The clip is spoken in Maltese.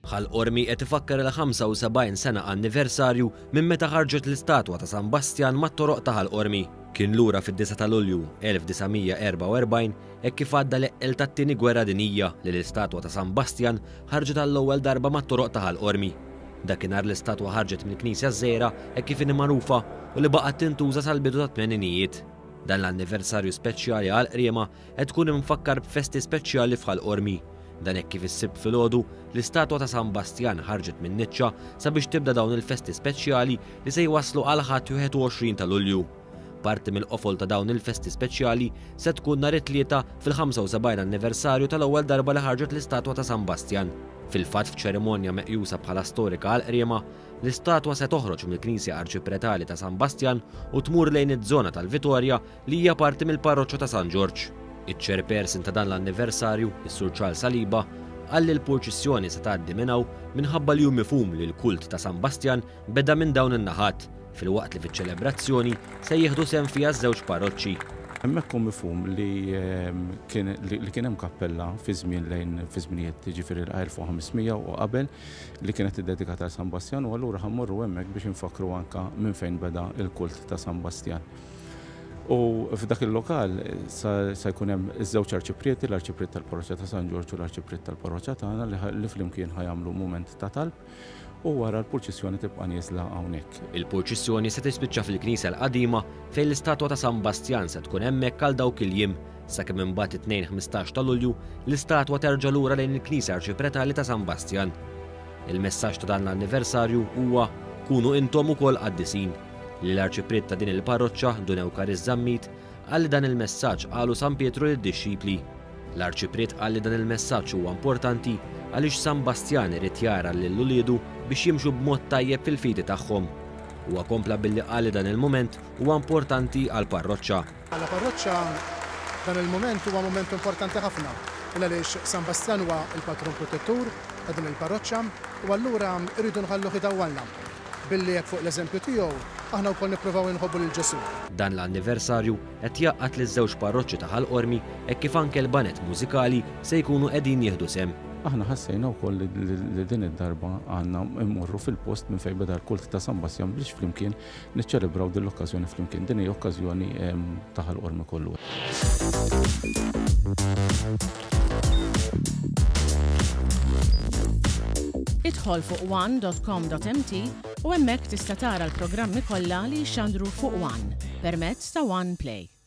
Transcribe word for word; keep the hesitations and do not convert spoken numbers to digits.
Ħal Qormi qed ifakkar il-ħamsa u sebgħin sena anniversarju minn meta ħarġet l-istatwa ta' San Bastjan mat-toroq ta' Ħal Qormi. Kien lura fid-disgħa ta' Lulju elf disa' mija erbgħa u erbgħin hekk kif għadda l-eqqel tat-tieni gwerra dinjija li l-istatwa ta' San Bastjan ħarġet għall-ewwel darba mat-toroq ta' Ħal Qormi. Dakinhar l-istatwa ħarġet mill-Knisja Żgħira hekk kif inhi magħrufa u li baqgħet tintuża sal-bidu tat-tmeninijiet. Dan l-anniversarju speċjali għal Qriema qed tkun imfakkar b'festi speċjali f'Ħal Qormi. Dan hekk kif is-Sibt filgħodu l-istatwa ta' San Bastjan ħarġet minn niċċa sabiex tibda dawn il-festi speċjali li se jwasslu għal Ħadd wieħed u għoxrin ta' Lulju. Parti mill-qofol ta' dawn il-festi speċjali se tkun nhar it-Tlieta fil-ħamsa u sebgħin anniversarju tal-ewwel darba li ħarġet l-istatwa ta' San Bastjan. Fil-fatt f'ċerimonja meqjusa bħala storika għal Qriema, l-istatwa se toħroġ mill-Knisja Arċipretali ta' San Bastjan u tmur lejn iż-żona tal-Vitorja li hija parti mill-parroċċa ta' San Ġorġ. Iċ-chairperson ta' dan l-anniversarju, is-Sur Charles Saliba, qal li l-purċissjoni se tgħaddi minn hawn minħabba li hu mifhum li l-kult ta' San Bastjan beda minn dawn in-naħat, filwaqt li fiċ-ċelebrazzjoni se jieħdu sehem fiha ż-żewġ parroċċi. Hemmhekk hu mifhum li, ehm, kien, li, li kien hemm kappella fi żmien lejn fi żminijiet jiġifieri l-elf u ħames mija u qabel li kienet iddedikata għal San Bastjan u allura ħammorru hemmhekk biex infakkru anka minn fejn beda l-kult ta' San Bastjan. U f'dak il-lokal sa, sa jkun hemm iż-żewġ arċiprieti, l-arċipriet tal-parroċċa ta' San Ġorġ u l-arċipriet tal-parroċċa tagħna li ħa-, li flimkien ħajamlu mument ta' talb u wara l-purċissjoni tibqa' nieżla hawnhekk. Il-purċissjoni se tispiċċa fil-Knisja l-Qadima fejn l-istatwa ta' San Bastjan se tkun hemmhekk għal dawk il-jiem, sakemm imbagħad it-Tnejn ħmistax ta' Lulju l-istatwa terġa' lura lejn il-Knisja Arċipretali ta' San Bastjan. Il-messaġġ ta' dan l-anniversarju huwa kunu intom ukoll qaddisin. Li l-arċipriet ta' din il-parroċċa, Dun Ewkaris Zammit, qal li dan il-messaġġ qalu San Pietru lid-dixxipli. L-arċipriet qal li dan il-messaġġ huwa importanti għaliex San Bastjan irid jara lil uliedu biex jimxu b'mod tajjeb fil-fidi tagħhom. Huwa kompla billi qal li dan il-mument huwa importanti għall-parroċċa. Għall-parroċċa dan il-mument huwa mument importanti ħafna, għaliex San Bastjan huwa il-patron protettur ta' din il-parroċċa u allura rridu nħalluh idawwalna. Billi jekk fuq l-eżempju tiegħu aħna wkoll nippruvaw inħobbu lil Ġesù. Dan l-anniversarju qed jgħaqqad liż-żewġ parroċċi ta' Ħal Qormi hekk kif anke l-banet mużikali se jkunu qegħdin jieħdu sehem. Aħna ħassejna wkoll li, li, li din id-darba għandna mmorru fil-post minn fejn beda l-kult ta' San Bastjan biex flimkien niċċelebraw din l-okkażjoni flimkien. Din hija okkażjoni, ehm, ta' Ħal Qormi kollu. Idħol fuq one dot com dot M T u hemmhekk tista' tara l-programmi kollha li jxandru fuq One permezz ta' One Play.